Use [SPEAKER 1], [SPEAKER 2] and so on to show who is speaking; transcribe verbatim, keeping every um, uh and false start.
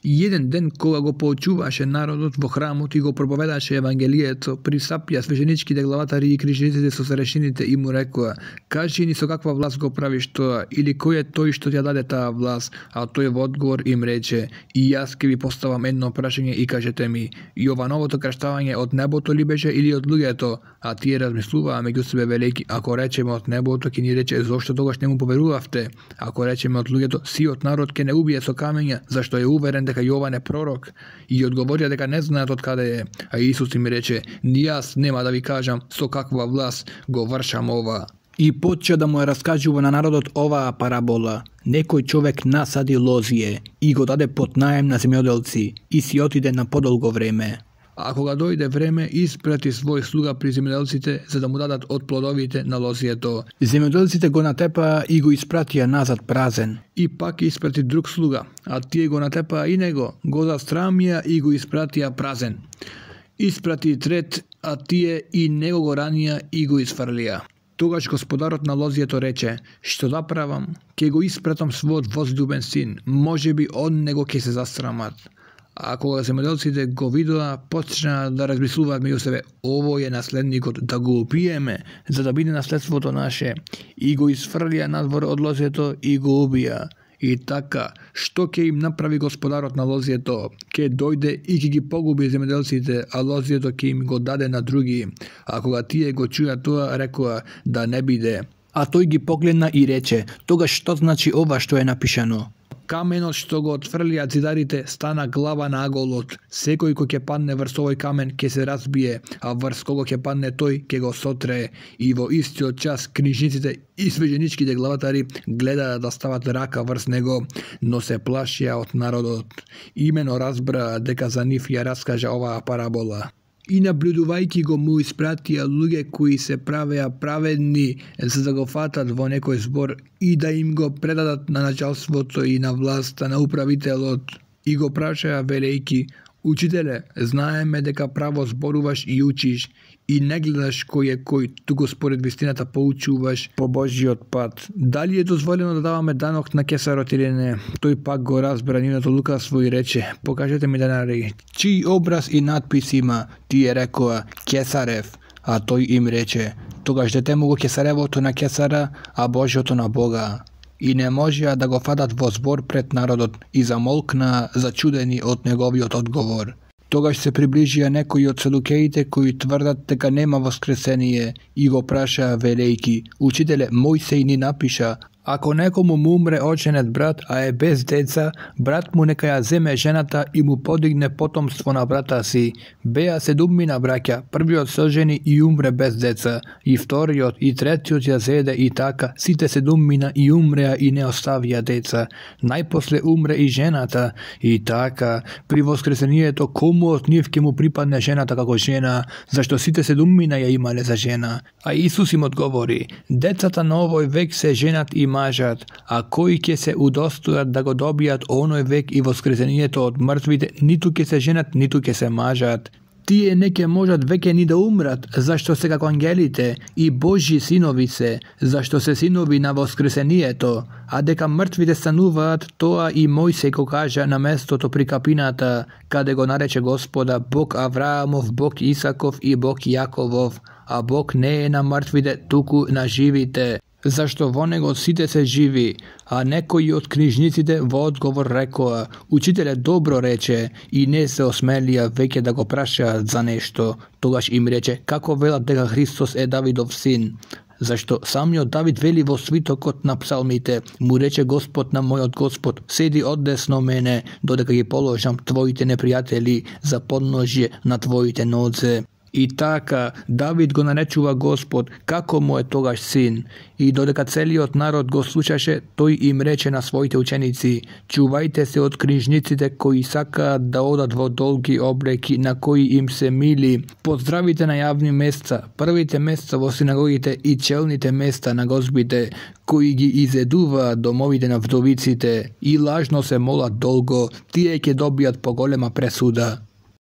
[SPEAKER 1] И еден ден кога го поучуваше народот во храмот и го проповедаше евангелието, присапија свеженичките главатари и книжниците со старешините и му рекоа: "Кажи ни со каква власт го правиш тоа, или кој е тој што ти ја даде таа власт?" А тој во одговор им рече: "И јас ќе ви поставам едно прашање и кажете ми, и ова новото крштавање од небото ли беше или од луѓето?" А тие размислуваа меѓу себе велејки: "Ако речеме од небото, ќе ни рече зошто тогаш не му поверувавте? Ако речеме од луѓето, сиот народ ќе не убие со камења, зашто е уверен дека Јован е пророк." И одговорија дека не знаат од каде е. А Исус им рече: "Ни јас нема да ви кажам со каква власт го вршам ова." И почна да му ја раскажува на народот оваа парабола. Некој човек насади лозие и го даде под наем на земјоделци и си отиде на подолго време. А кога дојде време, испрати свој слуга при земјоделците за да му дадат од плодовите на лозието. Земјоделците го натепаа и го испратија назад празен. И пак испрати друг слуга, а тие го натепаа и него, го застрамија и го испратија празен. Испрати трет, а тие и него го ранија и го изфрлија. Тогаш господарот на лозието рече: "Што да правам? Ке го испратам својот возлюбен син, можеби од него ќе се застрамат." А кога земјоделците го видоа, почнаа да размислуваат меѓу себе: "Овој е наследникот, да го убиеме, за да биде наследството наше." И го изфрлија надвор од лозието и го убија. И така, што ќе им направи господарот на лозието? Ќе дојде и ќе ги погуби земјоделците, а лозието ќе им го даде на други. А кога тие го чуја тоа, рекоа: "Да не биде." А тој ги погледна и рече: "Тогаш што значи ова што е напишано? Каменот што го отфрлија зидарите стана глава на аголот. Секој кој ќе падне врз овој камен ќе се разбие, а врз кого ќе падне тој ќе го сотрее." И во истиот час книжниците и свеженичките главатари гледаа да стават рака врз него, но се плашија од народот. Имено разбраа дека за нив ја раскажа оваа парабола. И наблюдувајќи го му испратија луѓе кои се правеа праведни за да го фатат во некој збор и да им го предадат на началството и на власта на управителот. И го прашаа велејки: "Учителе, знаеме дека право зборуваш и учиш, и не гледаш кој е кој, туку според вистината поучуваш по Божјиот пат. Дали е дозволено да даваме данок на кесарот или не?" Тој пак го разбра нивното лукавство и рече: "Покажете ми денари. Чиј образ и надпис има?" Тие рекоа: "Кесарев." А тој им рече: "Тогаш дете му го кесаревото на кесара, а Божјото на Бога." И не можеа да го фатат во збор пред народот и замолкнаа зачудени од неговиот одговор. Тогаш се приближија некои од седукеите кои тврдат дека нема воскресение и го прашаа велејки: "Учителе, Мојсей ни напиша, ако некому му умре оченет брат, а е без деца, брат му нека ја земе жената и му подигне потомство на брата си. Беа седумина браќа, првиот се ожени и умре без деца, и вториот и третиот ја зеде и така, сите седумина и умреа и не оставија деца. Најпосле умре и жената, и така, при воскресението кому од нив ќе му припадне жената како жена, зашто сите седумина ја имале за жена?" А Исус им одговори: "Децата на овој век се женат и мажат, а кои ќе се удостојат да го добијат оној век и воскресението од мртвите, ниту ќе се женат, ниту ќе се мажат. Тие не ќе можат веќе ни да умрат, зашто се како ангелите, и Божји синови се, зашто се синови на воскресението. А дека мртвите стануваат, тоа и Мојсей го кажа на местото при капината, каде го нарече Господа Бог Авраамов, Бог Исаков и Бог Јаковов, а Бог не е на мртвите, туку на живите. Зашто во него сите се живи." А некои од книжниците во одговор рекоа: "Учителе, добро рече", и не се осмелија веќе да го прашаат за нешто. Тогаш им рече: "Како велат дека Христос е Давидов син? Зашто самиот Давид вели во свитокот на псалмите: му рече Господ на мојот Господ: седи одесно мене, додека ги положам твоите непријатели за подножје на твоите нозе." И така, Давид го наречува Господ како му е тогаш син. И додека целиот народ го слушаше, тој им рече на своите ученици: "Чувајте се од книжниците кои сакаат да одат во долги облеки на кои им се мили. Поздравите на јавни места, првите места во синагогите и челните места на гозбите, кои ги изедуваат домовите на вдовиците и лажно се молат долго, тие ќе добијат поголема пресуда."